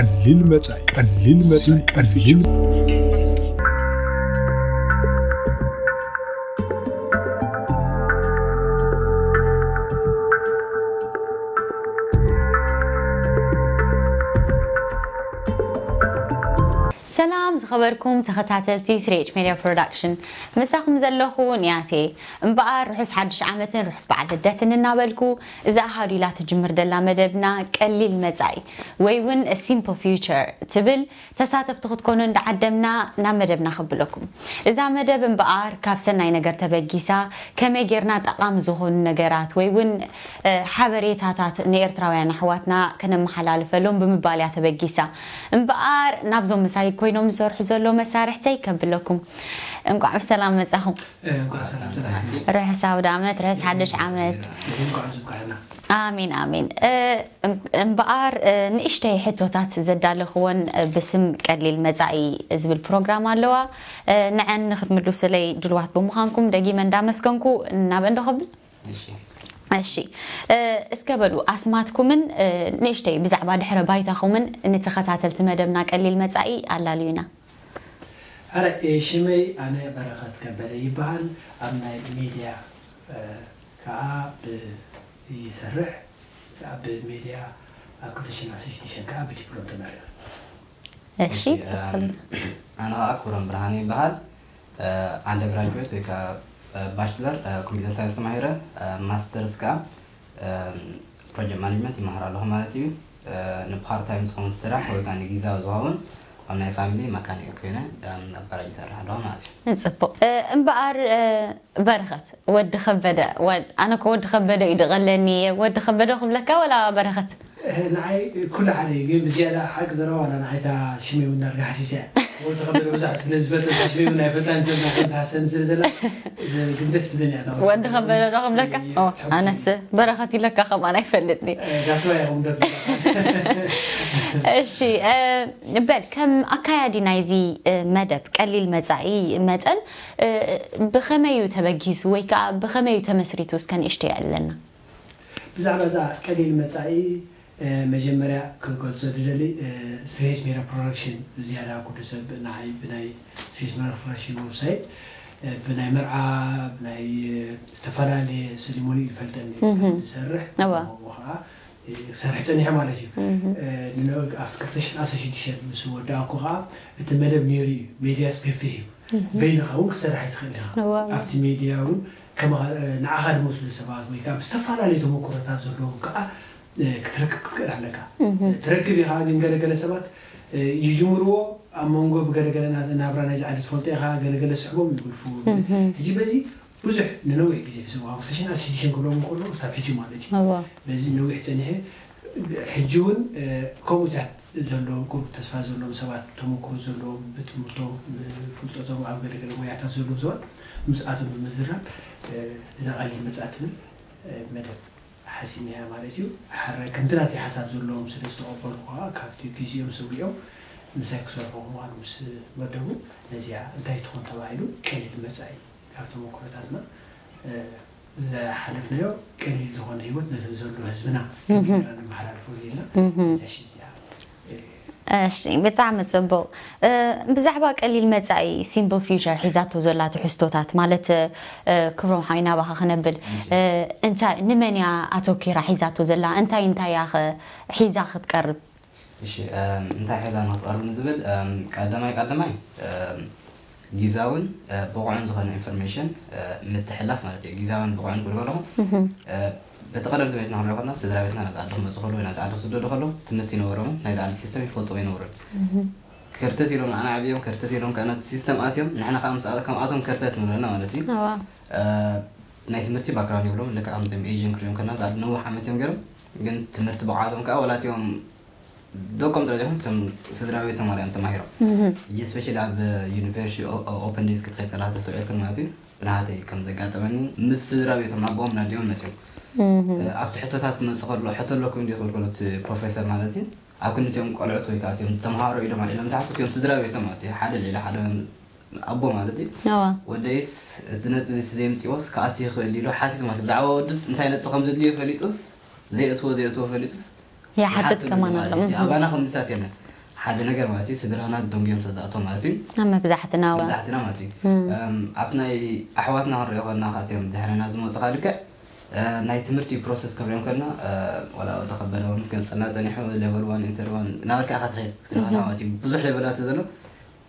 ቀሊል መጻኢ፣ ቀሊል መጻኢ፣ ቀሊል ሰላም ዝኸበርኩም ተኸታተልቲ ስሪ ኤች ሜድያ ፕሮዳክሽን፣ ምሳኹም ዘለኹ ንያቴ። እምበኣር ርሑስ ሓድሽ ዓመትን ርሑስ በዓል ልደትን እናበልኩ፣ እዛ ኣሃዱ ኢላ ትጅምር ዘላ መደብና ቀሊል መጻኢ ወይ እውን ሲምፕል ፊውቸር ትብል፣ ተሳተፍቲ ክትኮኑ እንዳዓደምና ናብ መደብና ከብለኩም። እዛ መደብ እምበኣር ካብ ሰናይ ነገር ተበጊሳ ከመይ ጌርና ጠቓሚ ዝኾኑ ነገራት ወይ እውን ሓበሬታታት ንኤርትራውያን ኣሕዋትና ከነመሓላልፈሎም ብምባል እያ ተበጊሳ። እምበኣር ናብዞም ምሳይ ኮይኖም ዝሰርሑ ዘለዉ መሳርሕተይ ከብለኩም፣ እንቋዕ ብሰላም መጻኹም። እንኳዕ ሰላም ጸናሕቲ። ርሑስ ኣውደ ዓመት፣ ርሑስ ሓድሽ ዓመት። እንኳዕ ዝብቃዕና። ኣሜን ኣሜን። እምበኣር ንእሽተይ ሕቶታት ዘዳለኽወን ብስም ቀሊል መጻኢ ዝብል ፕሮግራም ኣለዋ። ንዐን ንክትምልሱለይ ድልዋት ብምዃንኩም ደጊመ እንዳመስገንኩ ናበን ዶ ከብል? እሺ እሺ፣ እስከ በሉ ኣስማትኩምን ንእሽተይ ብዛዕባ ድሕረ ባይታኹምን ንተኸታተልቲ መደብና ቀሊል መጻኢ ኣላልዩና። ኣረ ሽመይ ኣነ በረኸት ከበደ ይበሃል። ኣብ ናይ ሜድያ ከዓ ይሰርሕ። ኣብ ሜድያ ኣብ ክልተ ሽሕን ዓሰርተ ሽዱሽተን ከዓ ብዲፕሎም ተመሪቐ። እሺ፣ ጽቡቕ። ኣነ ከዓ ክብሮም ብርሃነ ይበሃል። ኣንደር ግራጁዌት ወይ ከዓ ባችለር ኮምፒተር ሳይንስ ተማሂረ፣ ማስተርስ ከዓ ፕሮጀክት ማኔጅመንት ይመሃር ኣለኹ ማለት እዩ። ንፓርት ታይም ዝኸውን ስራሕ ወይ ከዓ ንጊዛዊ ዝኸውን ኣብ ናይ ፋሚሊ መካኒክ ኮይነ ኣብ ጋራጅ ይሰርሕ ኣለኹ ማለት እዩ። ጽቡቕ። እምበኣር በረኸት፣ ወዲ ከበደ፣ ኣነ እኮ ወዲ ከበደ እዩ ድቐለኒ። ወዲ ከበደ ክብለካ ወላ በረኸት? ንዓይ ኩሉ ሓደ እዩ፣ ግን ብዝያዳ ሓቂ ዘረባ ዋላ ንዓይ እታ ሽመይ እውን ዳርጋ ሓሲሰ እያ። ወዲ ከበደ ብዙሕ ስለ ዝፈልጥ እታ ሽመይ እውን ኣይፈልጣን፣ ሰብ ናተን ትሃሰኒ ስለ ዘላ፣ ግን ደስ ትብለኒ እያ እታ ወዲ ወዲ ከበደ ዶ ክብለካ? ኦ፣ ኣነስ በረኸት ኢለካ ከማን ኣይፈልጥኒ። ዳስባ እያ እውን ደርጋ እሺ፣ በል ከም ኣካያዲ ናይዚ መደብ ቀሊል መጻኢ መጠን፣ ብኸመይ እዩ ተበጊሱ ወይ ከዓ ብኸመይ እዩ ተመስሪቱ እስከ ንእሽተይ የዕልለና። ብዛዕባ እዛ ቀሊል መጻኢ መጀመርያ ክገልጾ ዝደሊ ስሪ ኤች ሜድያ ፕሮዳክሽን ዝያዳ ኩሉ ሰብ ንዓይ ብናይ ስሪ ኤች ሜድያ ፕሮዳክሽን ዌብሳይት ብናይ መርዓ ብናይ ዝተፈላለየ ሰሪሞኒ ይፈልጠኒ ዝሰርሕ እዋ። ከምኡ ከዓ ክሰርሕ ፀኒሐ ማለት እዩ። ንነገር ኣብቲ ክልተ ሽሕን ዓሰርተ ሽዱሽተን ምስ ወዳእኩ ከዓ እቲ መደብ ነይሩ እዩ። ሜድያስ ገፊሕ እዩ። በይንኻ እውን ክትሰርሕ ኣይትኽእል ኢኻ። እዋ። ኣብቲ ሜድያ እውን ከማኻ ንዓኻ ዝመስሉ ሰባት ወይ ከዓ ብዝተፈላለዩ ተመክሮታት ዘለዎም ከዓ ክትረክብ ክትክእል ኣለካ። ትረክብ ኢኻ፣ ግን ገለገለ ሰባት ይጅምርዎ ኣብ መንጎ ብገለገለ ናብራ ናይዚ ዓዲ ትፈልጦ ኢኻ፣ ገለገለ ስሕቦም ይገድፍዎ። ሕጂ በዚ ብዙሕ ንነዊሕ ግዜ ሒዞም ኣብ ክልተ ሽሕን ዓሰርተ ሽዱሽተን ክብሎም እንከሎ ክሳብ ሕጂ ማለት እዩ። እዋ። በዚ ነዊሕ ፀኒሐ። ሕጂ እውን ከምኡታት ዘለዎም ቁሩብ ተስፋ ዘለዎም ሰባት፣ ተመክሮ ዘለዎም፣ ብትምህርቶም ብፍልጠቶም ኣብ ገለገለ ሞያታት ዘለዎም ሰባት ምስኣቶም ብምዝራብ እዛ ቀሊል መጻኢ ትብል መደብ ሓሲመያ ማለት እዩ። ሓራይ ከምቲ ናተይ ሓሳብ ዘለዎም ስለ ዝተቐበሉ ከዓ ካብቲ ግዜኦም ሰዊኦም ምሳይ ክሰርሑ ምዃኑ ምስ መደቡ ነዚኣ እንታይ ትኾን ተባሂሉ ቀሊል መጻኢ ካብ ተመክሮታትና ዝሓለፍናዮ ቀሊል ዝኾነ ህይወት ነቲ ዘሎ ህዝብና ከመይ ጌርና ነመሓላልፎ ኢልና እዛ ሽም እዚኣ እሺ፣ ብጣዕሚ ጽቡቕ። ብዛዕባ ቀሊል መጻኢ ሲምፕል ፊውቸር ሒዛቶ ዘላ ትሕዝቶታት ማለት ክብሮም ሓወይ ናባኻ ክነብል እንታይ ንመን እያ ኣተኪራ ሒዛቶ ዘላ እንታይ እንታይ እያ ኸ ሒዛ ክትቀርብ? እሺ እንታይ ሒዛ ንክትቀርብ ንዝብል ቀዳማይ ቀዳማይ ጊዛውን ብቑዕን ዝኾነ ኢንፎርሜሽን ምትሕላፍ ማለት እዩ። ጊዛውን ብቑዕን ክብል ከለኹ በቲ ቀደም ተመሊስና ክንሪኦ ከለና ስድራ ቤትና ናብዚ ዓዲ ክመፁ ከለዉ ወይ ናብዚ ዓዲ ክስደዱ ከለዉ ትምህርቲ ይነበሮምን ናይዚ ዓዲ ሲስተም ይፈልጥዎ ኣይነበሩን። ከርተት ኢሎም ንዓና ዓብዮም ከርተት ኢሎም ከዓ ናብቲ ሲስተም ኣትዮም ንሕና ከዓ ምስ ከምኣቶም ከርተት ንብለና ማለት እዩ። እዋ። ናይ ትምህርቲ ባክግራውንድ የብሎም ልክዕ ከምዚኦም ኤዥን ክሪኦም ከለና ኣብዚ ዓዲ ነዊሕ ዓመት እዮም ገይሮም ግን ትምህርቲ ብቕዓቶም ከዓ ወላ እቲኦም ደቆም ጥራይ ዘይኮኑ እቶም ስድራ ቤቶም ኣርኣዮም ተማሂሮም ሕጂ ስፔሻሊ ኣብ ዩኒቨርሲቲ ኦፐን ዴይስ ክትኸይድ ከለካ ተስተውዒልክን ማለት እዩ ብናሃተይ ከም ዘጋጠመኒ ምስ ስድራ ቤቶም ኣቦኦም ናዲኦም መፅዮም ኣብቲ ሕቶታት ክመፅእ ከሎ ሕቶ ኣለኩም እንዲ ክብል ከሎ እቲ ፕሮፌሰር ማለት እዩ ኣብ ክንቲኦም ቆልዑት ወይ ከዓ እቲኦም ተምሃሮ ኢሎም ኣልዒሎም ተሓቱ እቲኦም ስድራ ቤቶም ማለት እዩ ሓደ ልዕሊ ሓደ ኣቦ ማለት እዩ እዋ። ወደይስ እቲ ነጥቢ እዚ ዘየምፅዎስ ክኣቱ ይኽእል ኢሉ ሓሲሱ ማለት እዩ ብዛዕባ ወዱስ እንታይ ነጥቢ ከም ዘድልዮ ፈሊጡስ ዘየእትዎ ዘየእትዎ ፈሊጡስ ይሓትት ከማን ኣሎ ኣባና ከምዚሳት የለን ሓደ ነገር ማለት እዩ፣ ስድራና ደንጉዮም ስለ ዝኣተው ማለት እዩ። ኣብ መብዛሕትና ዋ መብዛሕትና ማለት እዩ። እም፣ ኣብቲ ናይ ኣሕዋትና ክንሪኦ ከለና፣ ካብቲኦም ድሕረና ዝመፁ፣ ልክዕ እ፣ ናይ ትምህርቲ ፕሮሰስ ክንሪኦም ከለና፣ እ፣ ዋላ ወዲ ከበደ እውን ክገልፀልና ፀኒሑ፣ ሌቨል ዋን፣ ኢንተር ዋን እናበልካ ኢኻ ትኸይድ ክትሪኦ ከለካ ማለት እዩ። ብዙሕ ሌቨላት ዘሎ።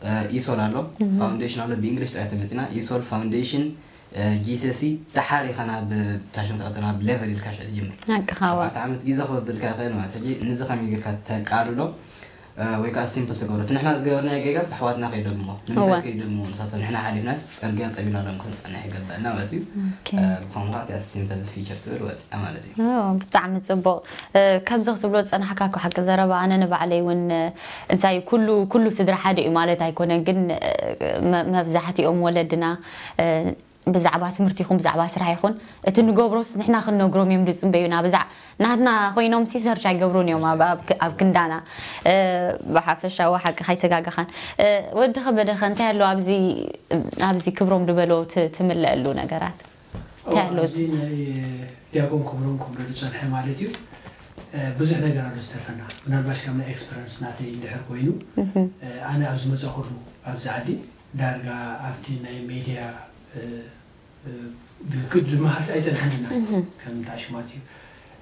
እ፣ ኢሶል ኣሎ፣ ፋውንዴሽን ኣሎ፣ ብእንግሊሽ ጥራይ ተመፂና። ኢሶል፣ ፋውንዴሽን፣ እ፣ ጂሰሲ፣ ደሓር ኢኻ ናብ ታሽም ትኣቱ፣ ናብ ሌቨል ኢልካ ሽዑ ትጅምር። ሓቅኻ ዋ ሸውዓተ ዓመት ግዜ ክወስደልካ ይኽእል ማለት። ሕጂ ንዚ ከመይ ጌርካ ተቃልሎ፣ እ፣ ወይ ከዓ ሲምፕል ትገብሮ? እቲ ንሕና ዝገበርናዮ ጌጋስ ኣሕዋትና ከይደግሞ፣ ንምንታይ እወ። ከይደግሞ? ንሳቶም ንሕና ሓሊፍናስ ፅርግያ ፀቢናሎም ክንፀንሕ ይገብኣና ማለት እዩ። ኦኬ። እ፣ ብኸምኡ ከዓ እቲኣ ሲምፕል ፊቸር ትብል ወፂኣ ማለት እዩ። ኦ፣ ብጣዕሚ ፅቡቕ። እ፣ ከምዚ ክትብሎ ዝፀናሕካ እኮ ሓቂ ዘረባ፣ ኣነ ንባዕለይ እውን፣ እ፣ እንታይ ኩሉ፣ ኩሉ ስድራ ሓደ እዩ ማለት ኣይኮነን፣ ግን፣ እ፣ መ-፣ መብዛሕትኦም ወለድና፣ እ፣ ብዛዕባ ትምህርቲ ይኹን ብዛዕባ ስራሕ ይኹን እቲ ንገብሮስ ንሕና ክንነግሮም እዮም ዝፅበዩና። ብዛዕ-፣ ናትና ኮይኖም ሲ ሰርች ኣይገብሩን እዮም ኣብ፣ ኣብ ክ-፣ ኣብ ክንዳና። እ፣ ብሓፈሻዊ ሓቂ ካይተጋገኻን። እ፣ ወዲ ከበደኸ እንታይ ኣሎ ኣብዚ፣ ኣብዚ ክብሮም ዝበሎ ት-፣ ትምለአሉ ነገራት? እንታይ ኣሎ? ኣብዚ ናይ ዲያቆን ክብሮም ክብሎ ዝፀንሐ ማለት እዩ። እ፣ ብዙሕ ነገር ኣሎ ዝተርፈና። ምናልባሽ ካብ ናይ ኤክስፐረንስ ናተይ እንድሕር ኮይኑ፣ እ፣ ኣነ ኣብ ዝመፀእኩሉ ኣብዚ ዓዲ ዳርጋ ኣብቲ ናይ ሜድያ፣ እ፣ እ፣ ብክድ ዝመሃርሲ ኣይፀንሐንን። ከም ታሽማት እዩ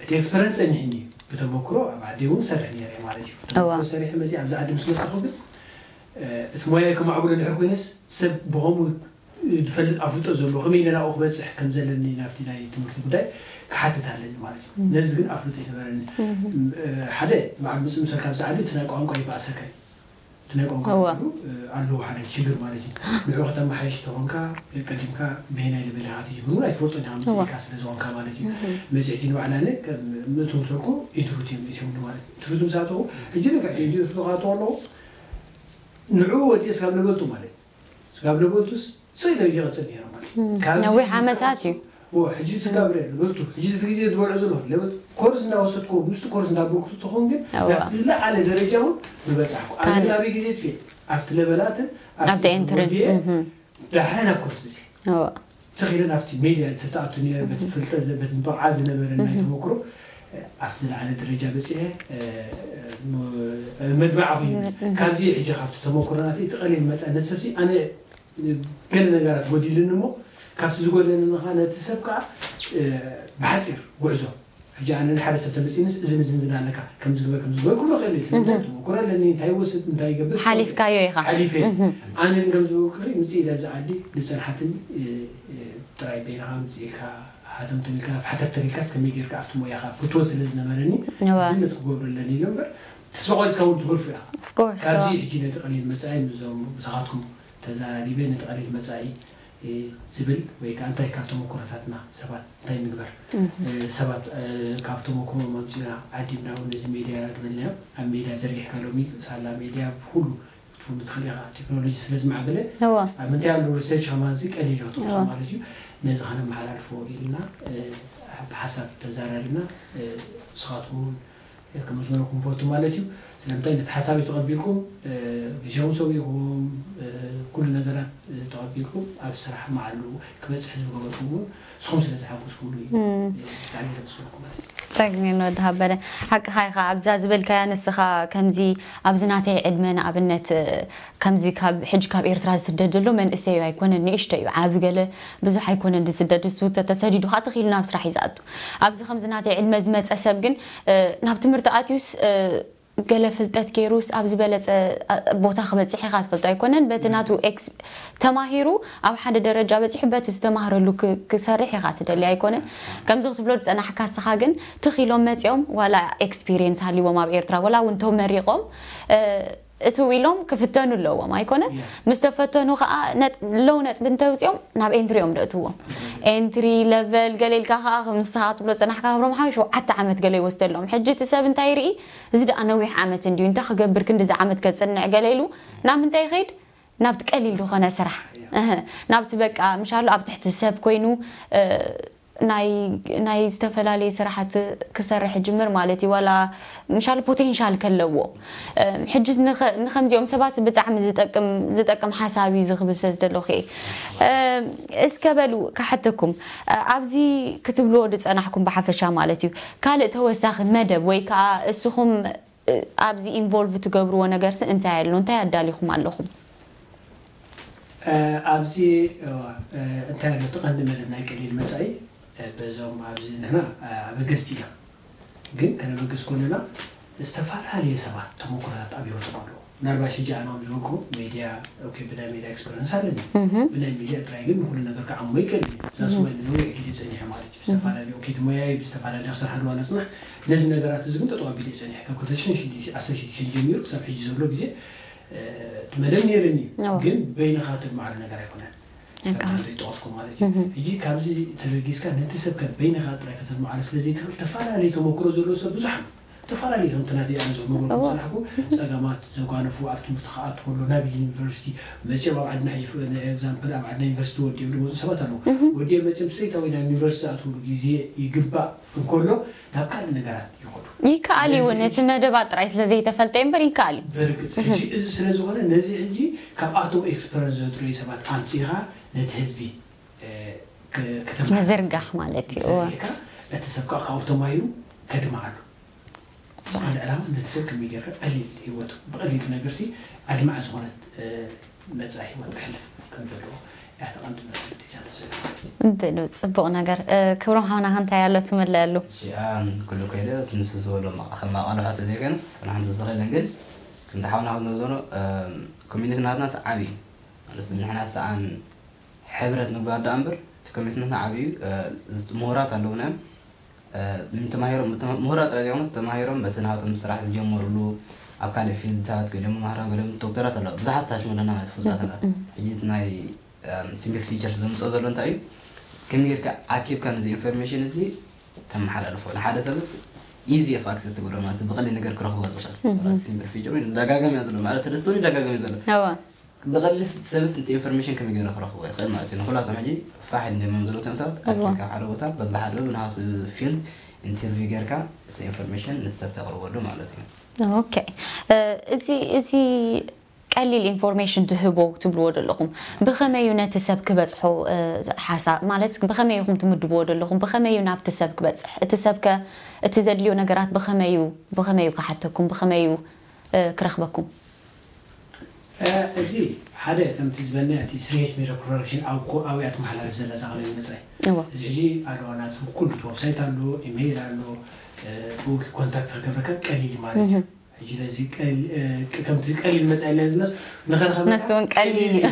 እቲ ኤክስፐረንስ ፀኒሕኒ እዩ። ብተመክሮ ኣብ ዓዲ እውን ሰርሕ ነይረ ማለት እዩ። ብተመክሮ እዋ። ሰሪሐ መፅእ ኣብዚ ዓዲ ምስ መፀኹ ግን፣ እ፣ እቲ ሞያይ ከማዕብሎ እንድሕር ኮይነስ ሰብ ብኸምኡ ዝፈልጥ ኣፍልጦ ዘለዎ ከመይ ኢለ ናብኡ ክበፅሕ ከም ዘለኒ ናብቲ ናይ ትምህርቲ ጉዳይ ክሓትት ኣለኒ ማለት እዩ። ነዚ ግን ኣፍልጦ ይነበረኒ። እ፣ ሓደ በዓል ምፅእ ምሰል ካብዚ ዓዲ እቲ ናይ ቋንቋ ይበኣሰካ እዩ። እቲ ናይ ቋንቋ እዋ። ነገሩ፣ እ፣ ኣለዎ ሓደ ሽግር ማለት እዩ። ንዑ ከተመሓይሽ ተኾንካ ቀዲምካ በየናይ ለበል ኢኻ ትጅምር እውን ኣይትፈልጦን ኢኻ እዋ። መፅእካ ስለ ዝኾንካ ማለት እዩ። መፅእ ሕጂ ንባዕላ ነ ከም ምእቱ ምሰልኩ ኢንትሩት እዮም እትብሉ ማለት እዩ። ኢንትሩት ምስ ኣተኹ ሕጂ ልክዕ ኢንትሩት ክኣትዎ ኣለኹ ንዑ ወዲኤ ስጋብ ለበልቱ ማለት እዩ። ስጋብ ለበልቱስ ስኢለ ይቐፅል ነይረ ማለት እዩ። ካብዚ ነዊሕ ዓመታት እዩ። ዎ፣ ሕጂ ስጋብ ርእ ለበልቱ ሕጂ እቲ ግዜ ዝበልዑ ዘሎ ለበል ኮርስ እንዳወሰድኩ ምስቲ ኮርስ እንዳበልኩ ትኸውን ግን እዋ። ናብቲ ዝለዓለ ደረጃ እውን ምበፃሕኩ። ኣነ ካልእ። ግን ኣበይ ግዜ ትፍየ ኣብቲ ለበላትን ኣብቲ ኤንትርን ወዲኤ እህ። ዳሕራይ ናብ ኮርስ ብፅሕ እዋ። ተኺለ ናብቲ ሜድያ ተተኣቱ ነይረ በቲ ፍልጠት ዘ- በቲ ብቕዓት ዝነበረ ናይ ተመክሮ ኣብቲ ዝለዓለ ደረጃ በፂሐ እ፣ ም- መድማዕ ኮይኑ ካብዚ ሕጂ ካብቲ ተመክሮ ናተይ እቲ ቀሊል መፀነት ሰብሲ ኣነ ገለ ነገራት ጎዲልኒ እሞ ካብቲ ዝጎደለኒ ከዓ ነቲ ሰብ ከዓ እ፣ ብሓፂር ጉዕዞ ሕጂ ኣነ ንሓደ ሰብ ተመፂንስ እዝን እዝን ዝን ኣለካ ከም ዝግበር ከም ዝግበር ክብሎ ክእል እየ ስለምንታይ ተመክሮ ኣለኒ እንታይ ይወስድ እንታይ ይገብር ሓሊፍካዮ ኢኻ። ሓሊፈ ኣነ ግን ከም ዝበልኩ ምፅእ ኢለ ኣብዚ ዓዲ ዝፀንሓትኒ እ፣ እ፣ ጥራይ በይንኻ ምፅእ ኢልካ ሃተምተም ኢልካ ሓተፍተር ኢልካስ ከመይ ጌርካ ኣብቲ ሞያኻ ፍትወት ስለ ዝነበረኒ እዋ። ድነት ክገብሩ ኣለኒ ኢለ እምበር ተስፋ ቆሪፅካ እውን ትገርፉ ኢኻ Of course, ካብዚ እዋ። ሕጂ ነቲ ቀሊል መፃኢ ምስዞም ብሳኻትኩም ተዛራሪበ ነቲ ቀሊል መፃኢ እ፣ ዝብል ወይ ከዓ እንታይ ካብ ተመክሮታትና ሰባት እንታይ ምግበር እ፣ ሰባት እ፣ ካብ ተመክሮ መምፂና ዓዲምና እውን ነዚ ሜድያ ዝበልናዮ ኣብ ሜድያ ዘርጊሕካ ሎሚ ሳላ ሜድያ ብኩሉ ክትፍሉ ትኽእል ኢኻ ቴክኖሎጂ ስለ ዝማዕበለ እዋ። ኣብ ምንታይ ኣሎ ሪሰርች ከማንዚ ቀሊል ይኽትቑ እዋ። ማለት እዩ ነዚ ከነመሓላልፎ ኢልና እ፣ ብሓሳብ ተዛራሪብና እ፣ ንስኻትኩም እውን ከም ዝበለኩም ፈቱ ማለት እዩ ስለምንታይ ነቲ ሓሳበይ ተቐቢልኩም እ፣ ግዜውን ሰዊእኹም እ፣ ኩሉ ነገራት እ፣ ተቐቢልኩም ኣብ ስራሕ መዓሉ ክበፅሕ ዝገበርኩም እውን ንስኹም ስለ ዝሓገዝኩምሉ እዩ እ፣ ብጣዕሚ ዘመስግነኩም ማለት እዩ ጠግኒ ወዲ ሃበረ ሓቅኻ ኢኻ ኣብዛ ዝበልካያ ንስኻ ከምዚ ኣብዚ ናተይ ዕድመ ንኣብነት እ፣ ከምዚ ካብ ሕጂ ካብ ኤርትራ ዝስደድ ዘሎ መንእሰይ ኣይኮነን ንእሽቶ እዩ ዓቢ ገለ ብዙሕ ኣይኮነን ዝስደድ እሱ ተተሰዲዱ ከዓ ተኺሉ ናብ ስራሕ እዩ ዝኣቱ ኣብዚ ከምዚ ናተይ ዕድመ ዝመፀ ሰብ ግን እ፣ ናብ ትምህርቲ ኣትዩስ እ፣ ገለ ፍልጠት ገይሩስ ኣብ ዝበለፀ እ፣ ቦታ ክበፅሕ ኢኻ ትፈልጦ ኣይኮነን በቲ ናቱ ኤክስ ተማሂሩ ኣብ ሓደ ደረጃ በፂሑ በቲ ዝተማህረሉ ክ- ክሰርሕ ኢኻ ትደሊ ኣይኮነን ከምዚ ክትብሎ ዝፀናሕካ እስኻ ግን ትኺሎም መፂኦም ዋላ ኤክስፒሪየንስ ሃሊዎም ኣብ ኤርትራ ዋላ እውን ተመሪቖም እ፣ እትው ኢሎም ክፍተኑ ኣለዎም ኣይኮነን Yeah. ምስ ተፈተኑ ከዓ ነጥ- ለው ነጥቢ እንተውፅኦም ናብ ኤንትሪ እዮም ደእትዎም ኤንትሪ ለቨል ገለ ኢልካ ከዓ ከም ንስኻ ክትብሎ ዝፀናሕካ ክብሮም ሓወይ ሸውዓተ ዓመት ገለ ይወስደሎም ሕጂ እቲ ሰብ እንታይ ይርኢ እዚ ደኣ ነዊሕ ዓመት እንድዩ እንታይ ክገብር ክንድዚ ዓመት ከፅንዕ ገለ ኢሉ ናብ ምንታይ ይኸይድ ናብቲ ቀሊል ዝኾነ ስራሕ እህ፣ ናብቲ በቃ ምሻሉ ኣብ ትሕቲ ሰብ ኮይኑ እ፣ ናይ ናይ ዝተፈላለየ ስራሓት ክሰርሕ ጅምር ማለት እዩ ዋላ ምሻሉ ፖቴንሻል ከለዎ እ፣ ሕጂ ንኸ- ንከምዚኦም ሰባት ብጣዕሚ ዝጠቅም ዝጠቅም ሓሳብ እዩ ዝኽብል ስለ ዝደለኹ እየ እ፣ እስከ በሉ ክሓተኩም እ፣ ኣብዚ ክትብልዎ ዝፀናሕኩም ብሓፈሻ ማለት እዩ ካልእ ተወሳኺ መደብ ወይ ከዓ እስኹም ኣብዚ ኢንቮልቭ ትገብርዎ ነገርሲ እንታይ ኣሎ? እንታይ ኣዳሊኹም ኣለኹም? ኣብዚ እንታይ ኣሎ? እቲ ቀንዲ መደብ ናይ ቀሊል መጻኢ በዞም ኣብዚ ንሕና ኣበገስቲ ኢና፣ ግን ከነበግስ ኮንና ዝተፈላለየ ሰባት ተመኩሮታት ኣብ ህይወቶም ኣለዉ። ምናልባሽ ሕጂ ኣነ ከም ዝበልኩ ሜድያ ኦኬ፣ ብናይ ሜድያ ኤክስፐሪንስ ኣለኒ። ብናይ ሜድያ ጥራይ ግን ንኩሉ ነገር ክዓሞ ይቀል እዛስ ወይ ንነዊሕ ግዜ ጸኒሐ ማለት እዩ። ብዝተፈላለዩ ኦኬ፣ ብሞያይ ብዝተፈላለዩ ክሰርሓ ድዋ ነጽናሕ። ነዚ ነገራት እዚ ግን ጠጠው ኣቢለ ጸኒሐ ካብ ክልተ ሽሕን ዓሰርተ ሽዱሽተን ጀሚሩ ክሳብ ሕጂ ዘሎ ግዜ እቲ መደብ ነይርኒ እዩ። ግን በይንኻ ተድማዕሉ ነገር ኣይኮነን። ጠቀስኩ ማለት እዩ። ሕጂ ካብዚ ተበጊስካ ነቲ ሰብ ከበይንኻ ጥራይ ከተድማዕሉ ስለ ዘይትኽእል፣ ተፈላለዩ ተመክሮ ዘለዎ ሰብ ብዙሕ ኣሎ። ተፈላለዩ ከምቲ ናተይ ኣነ ዝነገርኩም ዝጸናሕኩ ጸገማት ዘጓነፉ፣ ኣብ ትምህርቲ ክኣቱ ከሎ ናብ ዩኒቨርሲቲ መጺኦም ኣብ ዓድና ሕጂ ኤግዛምፕል ኣብ ዓድና ዩኒቨርሲቲ ወዲኦም ዝመጹ ሰባት ኣለዉ። ወዲኦም መጺኦም ስትሬት ኣወይ ናብ ዩኒቨርሲቲ ዝኣትውሉ ግዜ ይግባእ እንከሎ ናብ ካልእ ነገራት ይኸዱ። ይከኣል እዩ እውን ነዚ እቲ መደባት ጥራይ ስለ ዘይተፈልጠ እምበር ይከኣል እዩ። ብርግጽ ሕጂ እዚ ስለ ዝኾነ ነዚ ሕጂ ካብኣቶም ኤክስፐረንስ ዘጥረዩ ሰባት ኣምጺኻ ነቲ ህዝቢ እ፣ ክ- ከተማሓላልፎ ምዝርጋሕ ማለት እዩ። እወ። ዘሪእካ እቲ ሰብ ከዓ ካብኡ ተማሂሩ ከድምዓሉ። ብቐንዲ ዕላማ ነቲ ሰብ ከመይ ጌርካ ቀሊል ህይወቱ ብቐሊል ነገር ሲ ኣድማዒ ዝኾነት እ፣ መጻኢ ህይወት ከሕልፍ ከም ዘለዎ እያ ተቐንዲ መሰረት ሒዛ ተሰሪፋ። ብሉ ጽቡቕ ነገር እ፣ ክብሮም ሓውና እንታይ ኣሎ ትምለአሉ? እሺ፣ ኣም፣ ኩሉ ከይደ እቲ ንሱ ዝበሎ ማቕ- ከም ማቐልሖ ተዘይኮነስ ንሓንቲ ዝኽእልን ግን ከምቲ ሓውና ክብሎ ዘሎ ኮሚኒቲ ናትና ዓብዪ እዩ። ማለት ንሕና ሰኣን ሕብረት ምግባር ደኣ እምበር እቲ ኮሚትመንትና ዓብዩ ምሁራት ኣለውና እዮም። ምሁራት ጥራይ ዘይኮነስ ተማሂሮም በቲ ናቶም ስራሕ ዝጀመሩሉ ኣብ ካልእ ፊልድታት ገሊኦም መማህራን ገሊኦም ዶክተራት ኣለዉ ብዙሓት ታሽመለና ማለት ፍሉጣት ኣለና ሕጂ እቲ ናይ ሲምፕል ፊቸርስ ዘምፅኦ ዘሎ እንታይ እዩ ከመይ ጌርካ ኣኪብካ ነዚ ኢንፎርሜሽን እዚ ተመሓላልፎ ንሓደ ሰብስ ኢዚ ኦፍ ኣክሰስ ትገብሮ ማለት ብቐሊል ነገር ክረኽቦ ዝኽእል ሲምፕል ፊቸር ወይ ደጋገም እያ ዘሎ ማለት ተደስተውን ይደጋገም እዩ ዘሎ ብቐሊል ሰብስ ነቲ ኢንፎርሜሽን ከመይ ገይሩ ክረኽቦ ይኽእል ማለት እዩ ንኩላቶም ሕጂ ፋሕ ኢሎም ዘለዉ እቶም ሰባት ኣኪብካ ሓደ ቦታ በብሓደ በብናቱ ፊልድ ኢንተርቪው ጌርካ እቲ ኢንፎርሜሽን ነቲ ሰብ ተቕርበሉ ማለት እዩ ኦኬ እዚ እዚ ቀሊል ኢንፎርሜሽን ትህቦ ትብልዎ ዘለኹም ብኸመይ እዩ ነቲ ሰብ ክበፅሖ ሓሳብ ማለት ብኸመይ ኢኹም ትምድብዎ ዘለኹም ብኸመይ እዩ ናብቲ ሰብ ክበፅሕ እቲ ሰብ ከ እቲ ዘድልዮ ነገራት ብኸመይ እዩ ብኸመይ እዩ ክሓተኩም ብኸመይ እዩ ክረኽበኩም እዚ ሓደ ከምቲ ዝበልና እቲ ስሪየስ ሜዳ ፕሮዳክሽን ኣብያ ትመሓላለፍ ዘላ እዛ ቀለል መፅኣይ እዚ ሕጂ ኣለዋ ናቱ ኩሉ ወብሳይት ኣሎ ኢሜይል ኣሎ ብኡ ኮንታክት ክገብረካ ቀሊል ማለት እዩ ሕጂ ነዚ ከምቲ ቀሊል መፅኣ ኢልና ዝብለስ ንኸረኸበ ነሱ እውን ቀሊል እዩ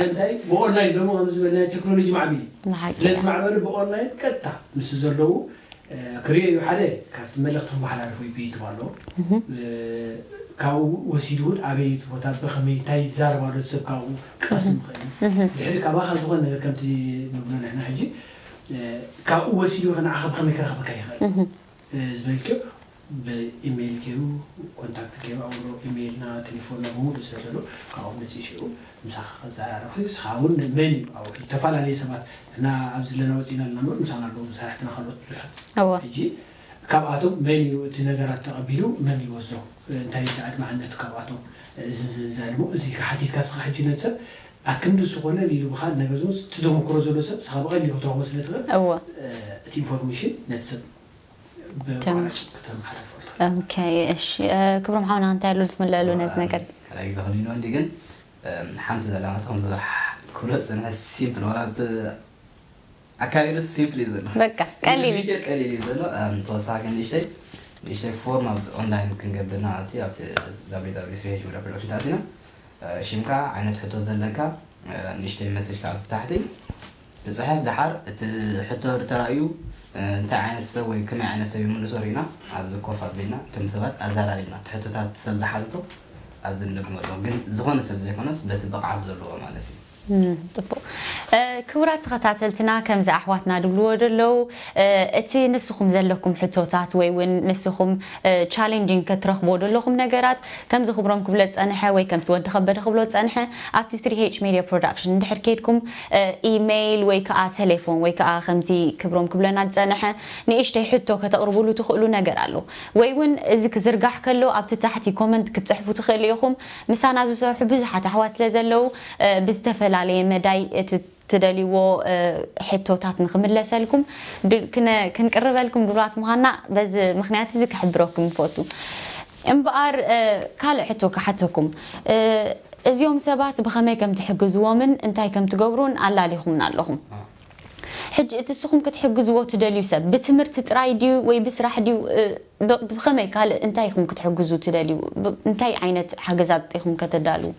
እንታይ ብኦንላይን ሎሚ ከም ዝበልና ቴክኖሎጂ ማዕቢል እዩ ስለዚ ማዕበሉ ብኦንላይን ቀጥታ ምስ ዘለዉ ክሪኦ እዩ ሓደ ካብቲ መልእኽቲ ክመሓላልፎ እዩ ብይትብ ኣሎ ካብኡ ወሲዱ እውን ኣበይ ቦታ ብኸመይ እንታይ ይዛረብ ኣሎ ሰብ ካብኡ ክቐስም ይኽእል እዩ ድሕሪ ካባኻ ዝኾነ ነገር ከምቲ ንብሎ ንሕና ሕጂ ካብኡ ወሲዱ ከ ንዓኻ ብኸመይ ክረኽበካ ይኽእል ዝበልክዮ ብኢሜይል ገይሩ ኮንታክት ገይሩ ኣውሮ ኢሜይልና ቴሌፎንና ብምሉእ ስለ ዘሎ ካብኡ መፅእ ሽኡ ምሳኻ ከዘራረብ ንስኻ እውን መን እዩ ኣብ ዝተፈላለዩ ሰባት እና ኣብዚ ዘለና ወፂና ኣለና ምበር ምሳና ኣለዉ መሳርሕትና ካልኦት ብዙሓት ሕጂ ካብኣቶም መን እዩ እቲ ነገራት ተቐቢሉ መን ይወስዶ እንታይ እቲ ኣድማዕነት ካብኣቶም እዚ ዝዳልሞ እዚ ሓቲትካ ስኻ ሕጂ ነቲ ሰብ ኣክንዲ ዝኾነ ኢሉ ብኻል ነገር ዝመስ እቲ ተመክሮ ዘሎ ሰብ ስኻ ብቐሊሉ ክትረኽቦ ስለ ትኽእል እቲ ኢንፎርሜሽን ነቲ ሰብ ብቋራጭ ከተመሓላልፎ ኦኬ እሺ ክብሮም ሓውና እንታይ ኣሎ ትምለአሉ ነዚ ነገር እዚ ሓላይ ግዜ ከሊሉ እንዲ ግን ሓንቲ ዘላ ማለት ከም ዝብሓ ክብሎ ዝፅንሐ ሲምፕል ዋላ ኣካይዱ ሲምፕል እዩ ዘሎ በቃ ቀሊል እዩ ቀሊል እዩ ዘሎ ተወሳኺ ንእሽተይ ንእሽተይ ፎርም ኣብ ኦንላይን ክንገብር ንዓልቲ ኣብቲ www production ታእቲና ሽምካ ዓይነት ሕቶ ዘለካ ንእሽተይ መሴጅ ካብ ታሕቲ ብፅሐፍ ደሓር እቲ ሕቶ ተራእዩ እንታይ ዓይነት ሰብ ወይ ከመይ ዓይነት ሰብ ይምልሶ ርኢና ኣብዚ ኮፍ ኣቢልና እቶም ሰባት ኣዘራሪብና እቲ ሕቶታት ሰብ ዝሓትቶ ኣብዚ ንደግመሎም ግን ዝኾነ ሰብ ዘይኮነስ በቲ ብቕዓት ዘለዎ ማለት እዩ ፅቡቅ ክቡራት ተኸታተልትና ከምዚ ኣሕዋትና ድብልዎ ደለዉ እቲ ንስኹም ዘለኩም ሕቶታት ወይ እውን ንስኹም ቻሌንጂንግ ከትረኽቦ ደለኹም ነገራት ከምዚ ክብሮም ክብሎ ዝፀንሐ ወይ ከምቲ ወዲ ከበደ ክብሎ ዝፀንሐ ኣብቲ ትሪ ኤች ሜድያ ፕሮዳክሽን እንድሕር ከይድኩም ኢሜይል ወይ ከዓ ቴሌፎን ወይ ከዓ ከምቲ ክብሮም ክብለና ዝፀንሐ ንእሽተይ ሕቶ ከተቕርቡሉ ትኽእሉ ነገር ኣሎ ወይ እውን እዚ ክዝርጋሕ ከሎ ኣብቲ ታሕቲ ኮመንት ክትፅሕፉ ትኽእሉ ኢኹም ምሳና ዝሰርሑ ብዙሓት ኣሕዋት ስለ ዘለዉ ብዝተፈላለየ መዳይ እቲ ትደልይዎ ሕቶታት ንክምለሰልኩም ክንቅርበልኩም ድሉዋት ምዃንና በዚ ምክንያት እዚ ክሕብረኩም ንፈቱ እምበኣር ካልእ ሕቶ ክሓተኩም። እዚኦም ሰባት ብኸመይ ከም ትሕግዝዎምን እንታይ ከም ትገብሩን ኣላሊኹምና ኣለኹም። ሕጂ እቲ ንስኹም ክትሕግዝዎ ትደልዩ ሰብ ብትምህርቲ ጥራይ ድዩ ወይ ብስራሕ ድዩ? ብኸመይ ካልእ እንታይ ኢኹም ክትሕግዙ ትደልዩ? እንታይ ዓይነት ሓገዛት ኢኹም ከተዳልዉ?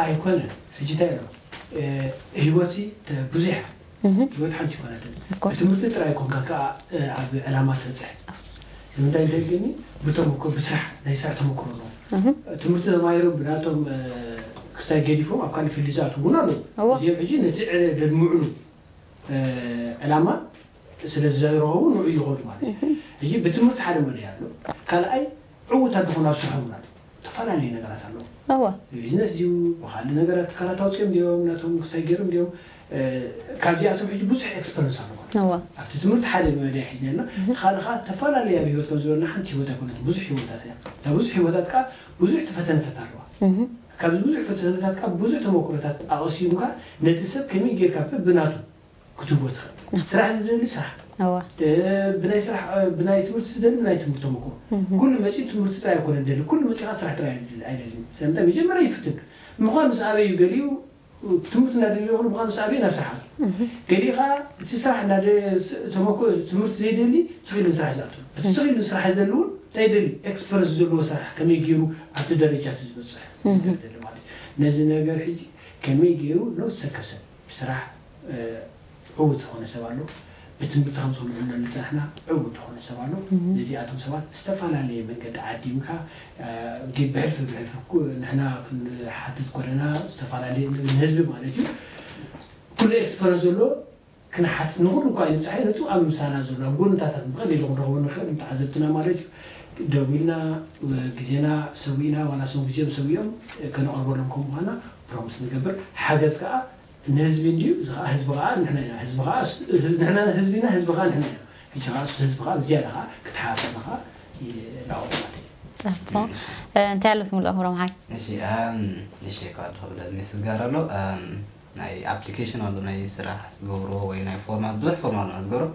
ኣይኮነን። ሕጂ እንታይ ኣሎ? ህይወት ብዙሕ፣ ህይወት ሓንቲ ይኮነትን። ትምህርቲ ጥራይ ኮንካ ከዓ ኣብ ዕላማ ትበፅሕ። ንምንታይ እንተልክኒ ብተመኮ ብስራሕ ናይ ስራሕ ተመክሮ ኣለዎ። ትምህርቲ ተማሂሮም ብናቶም ክስታይ ገዲፎም ኣብ ካልእ ፊልድ ዝኣትዉ እውን ኣለዉ። እዚኦም ሕጂ ነቲ ደድምዕሉ ዕላማ ስለ ዝረኸቡ ንዑ ይኸዱ ማለት እዩ። ሕጂ ብትምህርቲ ሓደ መለያ ኣሎ። ካልኣይ ዕዉታት ዝኾኑ ኣብ ስርሖም እውን ኣለዉ። ዝተፈላለዩ ነገራት ኣለዉ። እወ። ብቢዝነስ ድዩ፣ ብኻልእ ነገራት ትካላት ኣውፅኦም ድዮም፣ ናቶም ክስታይ ገይሮም ድዮም፣ ካብዚኣቶም ሕጂ ብዙሕ ኤክስፐረንስ ኣለዎ። እወ። ኣብቲ ትምህርቲ ሓደ መለያ ሒዝና ኣለና። እቲ ካልእ ከዓ ተፈላለየ ኣብ ህይወት ከም ዝበለና ሓንቲ ህይወት ኣይኮነትን፣ ብዙሕ ህይወታት እያ። እታ ብዙሕ ህይወታት ከዓ ብዙሕ ፈተነታት ኣለዋ። ካብዚ ብዙሕ ፈተነታት ከዓ ብዙሕ ተመክሮታት ኣቐሲምካ ነቲ ሰብ ከመይ ጌርካ በብናቱ ክትህቦ ትኽእል። ስራሕ ዝደሊ ስራሕ፣ ብናይ ስራሕ ብናይ ትምህርቲ ዝደሊ ናይ ትምህርቲ ተመክሮ። ኩሉ መፂኡ ትምህርቲ ጥራይ ኣይኮነ ደሊ፣ ኩሉ መፂኻ ስራሕ ጥራይ ኣይደልን። ስለምንታይ መጀመርያ ይፍትን። ምዃን ምስ ኣበይ እዩ ገሊኡ ትምህርቲ እናደለየ ይኹን ምዃን ምስ ኣበይ ናብ ስራሕ ኣቱ። ገሊኡ ከዓ እቲ ስራሕ እናደ ተመክሮ ትምህርቲ ዘይደሊ ትኽእል ስራሕ ዝኣቱ። እቲ ትኽእል ስራሕ ዝደሊ እውን እንታይ ደሊ ኤክስፐረንስ ዘለዎ ስራሕ ከመይ ገይሩ ኣብቲ ደረጃ እቲ ዝበፅሕ ነገር ደሊ ማለት እዩ። ነዚ ነገር ሕጂ ከመይ ገይሩ ነውሰከሰብ ብስራሕ ዕዉት ዝኾነ ሰብ ኣሎ። ብትምህርቲ ከም ዝምዕብለሉ ዝፀናሕና ዕዉት ዝኾነ ሰብ ኣሎ። ነዚኣቶም ሰባት ብዝተፈላለየ መንገዲ ዓዲምካ ብሕልፊ ብሕልፊ ንሕና ክንሓትት ኮለና ዝተፈላለየ ንህዝቢ ማለት እዩ ኩሉ ኤክስፐረንስ ዘሎ ክንሓትት ንኹሉ እኳ ኣይንብፃሕ ነቱ ኣብ ምሳና ዘሎ ኣብ ጎንታታት ብቐሊሉ ክንረኽቦ ንኽእል ንተዓዘብትና ማለት እዩ። ደዊልና ግዜና ሰዊእና ዋላ ሰው ግዜም ሰዊኦም ከነቐርበሎም ከም ምዃና ፕሮሚስ ንገብር። ሓገዝ ከዓ ንህዝቢ እንድዩ፣ እዚ ከዓ ህዝቢ ከዓ ንሕና ኢና። ህዝቢ ከዓ ንሕና ህዝቢና ህዝቢ ከዓ ንሕና ኢና። ሕጂ ከዓ እሱ ህዝቢ ከዓ ብዝያዳ ከዓ ክትሓባበርና ከዓ ይላወጥ ማለት እዩ። ፅቡቕ። እንታይ ኣሎ ትምልኦ ክብሮም ሓይ? እሺ እም፣ እሺ ካብ ክብለት ምስጋር ኣሎ እም፣ ናይ ኣፕሊኬሽን ኣሎ ናይ ስራሕ ዝገብርዎ ወይ ናይ ፎርማት ብዙሕ ፎርማት ኣሎ ዝገብሮ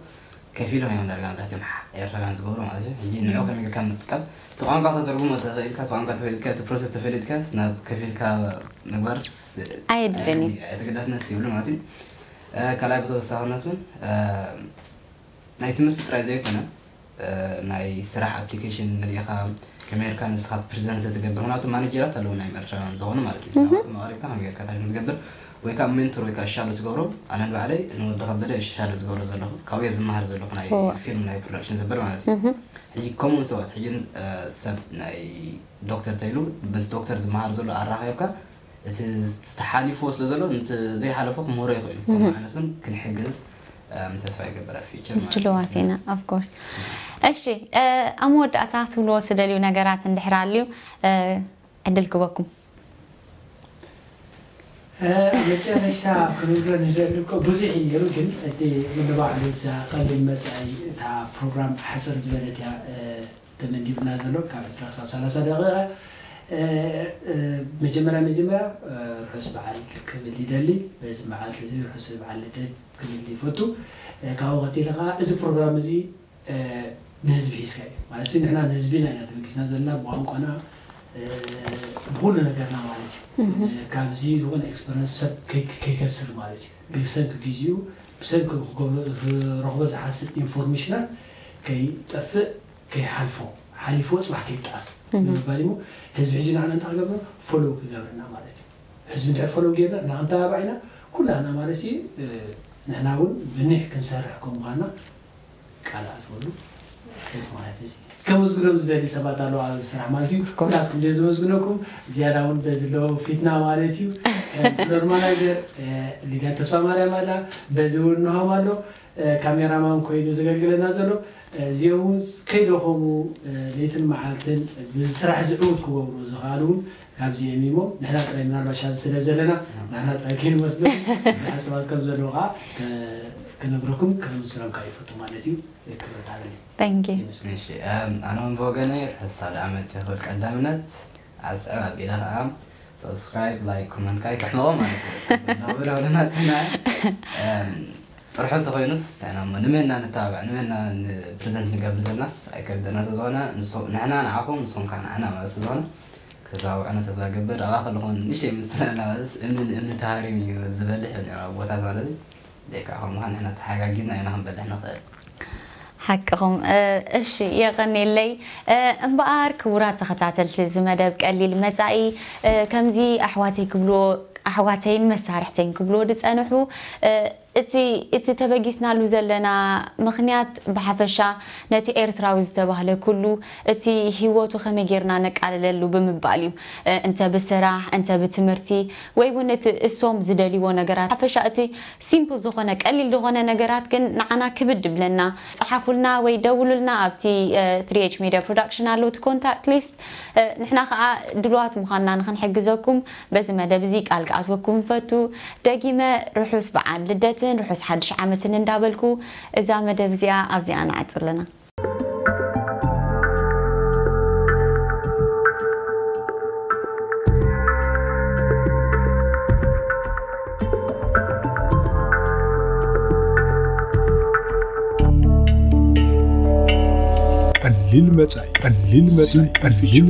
ከፊሎም እዮም ዳርጋ መብዛሕትኦም ኤርትራውያን ዝገብሩ ማለት እዩ። ሕጂ ንዑ ከመይ ጌርካ ምጥቃም እቲ ቋንቋ ተተርጉሞ ተኽእልካ እቲ ቋንቋ ተፈሊጥካ እቲ ፕሮሰስ ተፈሊጥካ ናብ ከፊልካ ምግባርስ ኣየድልን እዩ። ተገዳስነት ይብሉ ማለት እዩ። ካልኣይ ብተወሳኽነት እውን ናይ ትምህርቲ ጥራይ ዘይኮነ ናይ ስራሕ ኣፕሊኬሽን መሊእኻ ከመይ ጌርካ ንስኻ ፕሪዘንት ትገብር ምክንያቱ ማኔጀራት ኣለዉ ናይ ኤርትራውያን ዝኾኑ ማለት እዩ ናባቶም ኣቕሪብካ ከመይ ጌርካ ታሽ ትገብር ወይ ከዓ ሜንቶር ወይ ከዓ ሻዶ ትገብሮ ኣነ ንባዕለይ ንወዲ ከበደ ሻዶ ዝገብሮ ዘለኹ ካብየ ዝመሃር ዘለኹ ናይ ፊልም ናይ ፕሮዳክሽን ዘበል ማለት እዩ ሕጂ ከምኡ ሰባት ሕጂ ሰብ ናይ ዶክተር ተይሉ ምስ ዶክተር ዝመሃር ዘሎ ኣራኺብካ እቲ ዝተሓሊፍዎ ስለ ዘሎ ነቲ ዘይሓለፎ ክምህሮ ይኽእል እዩ ከምኡ ዓይነት እውን ክንሕግዝ ተስፋ ይገብር ኣብ ፊቸር ማለት እዩ። ድልዋት ኢና of course እሺ ኣብ መወዳእታ ትብልዎ ትደልዩ ነገራት እንድሕር ኣልዩ ዕድል ክበኩም መጨረሻ ክንብሎ ንደሊ እኮ ብዙሕ እዩ ነይሩ ግን እቲ ንባዕሉ እታ ቀሊል መፃኢ እታ ፕሮግራም ሓፅር ዝበለት እያ ተመዲብና ዘሎ ካብ ዕስራ ክሳብ ሰላሳ ደቂቃ መጀመርያ መጀመርያ ርሑስ በዓል ክብል ይደሊ በዚ መዓልቲ እዚ ርሑስ በዓል ልደት ክብል ይፈቱ ካብኡ ቀፂለ ከዓ እዚ ፕሮግራም እዚ ንህዝቢ ሒዝካ እዩ ማለት ንሕና ንህዝቢና ኢና ተበጊስና ዘለና ብቋንቋና ብኩሉ ነገርና ማለት እዩ ካብዚ ዝኾነ ኤክስፐረንስ ሰብ ከይከስር ማለት እዩ ብሰንኪ ግዜኡ ብሰንኪ ክረኽቦ ዝሓስብ ኢንፎርሜሽናት ከይጠፍእ ከይሓልፎ ሓሊፍዎ ፅባሕ ከይጣስ ብምባል እሞ ህዝቢ ሕጂ ንዓና እንታይ ክገብር ፎሎው ክገብርና ማለት እዩ ህዝቢ እንድሕር ፎሎው ጌርና ንክንተባባዕ ኢና ኩላህና ማለት እዩ ንሕና እውን ብኒሕ ክንሰርሕ ከም ምዃንና ቃል ኣትወሉ እዚ ማለት እዚ ከመስግኖም ዝደሊ ሰባት ኣለዉ ኣብ ስራሕ ማለት እዩ ኩላትኩም ደ ዝመስግነኩም ዝያዳ እውን በዚ ኣለዉ ፊትና ማለት እዩ ፍሎር ማናጀር ሊዳ ተስፋ ማርያም ኣላ በዚ እውን ንሆም ኣሎ ካሜራማን ኮይኑ ዘገልግለና ዘሎ እዚኦም እውን ከይደኸሙ ለይትን መዓልትን ብስራሕ ዝዕውት ክገብሩ ዝኽኣሉ እውን ካብዚኦም እሞ ንሕና ጥራይ ምናልባሽ ኣብ ስለ ዘለና ንሕና ጥራይ ከይንመስሉ ብዙሓት ሰባት ከም ዘለዉ ከዓ ክነግረኩም ከመስግኖም ከዓ ይፈቱ ማለት እዩ ክብረት ኣለኒ Thank you. እሺ ኣነ እውን ብወገነይ ርሑስ ሳልዕ ዓመት ይኽብል ቀዳምነት ኣስዕብ ኣቢለ ከዓ ሰብስክራይብ ላይክ ኮመንት ከዓ ይትሕመቖ ማለት እዩ ብለውለና ፅና ጥርሑ እንተኾይኑስ ንሕና እሞ ንመና ንተባብዕ፣ ንመና ንፕሬዘንት ንገብር ዘለናስ ኣይከብደና። ስለዝኾነ ንሱ- ንሕና ንዓኹም፣ ንስኹም ከዓ ንዓና ማለት ስለዝኾነ ክተተባብዑና ተስፋ ገብር። ኣብኣ ከለኹም ንእሽተይ ምስትለና ማለትስ እምኒ ንእምኒ ተሃሪሙ እዩ ዝበልሕ ይብል ነይሩ ኣቦታት ማለት እዩ። ደይ ከዓ ከምኡ ከዓ ንሕና ተሓጋጊዝና ኢና ክንበልሕ ንኽእል። ሓቅኹም። እሺ፣ የቐኔለይ። እምበኣር ክቡራት ተኸታተልቲ እዚ መደብ ቀሊል መጻኢ፣ ከምዚ ኣሕዋተይ ክብልዎ ኣሕዋተይን መሳርሕተይን ክብልዎ ዝጸንሑ፣ እቲ እቲ ተበጊስናሉ ዘለና ምኽንያት ብሓፈሻ ነቲ ኤርትራዊ ዝተባህለ ኩሉ እቲ ህይወቱ ከመይ ጌርና ነቃልለሉ ብምባል እዩ። እንተ ብስራሕ፣ እንተ ብትምህርቲ፣ ወይ እውን እቲ እሶም ዝደልይዎ ነገራት። ሓፈሻ እቲ ሲምፕል ዝኾነ ቀሊል ዝኾነ ነገራት ግን ንዓና ክብድ ይብለና። ጸሓፉልና ወይ ደውሉልና ኣብቲ ትሪ ኤች ሜድያ ፕሮዳክሽን ኣሎ እቲ ኮንታክት ሊስት። ንሕና ከዓ ድሉዋት ምዃንና ንኽንሕግዘኩም በዚ መደብ እዚ ቃል ክኣትወኩም ንፈቱ። ደጊመ ርሑስ በዓል ልደትን ርሑስ ሓድሽ ዓመትን እንዳበልኩ እዛ መደብ እዚኣ ኣብዚኣ ንዓጽር ኣለና። ቀሊል መጻኢ ቀሊል መጻኢ ቀሊል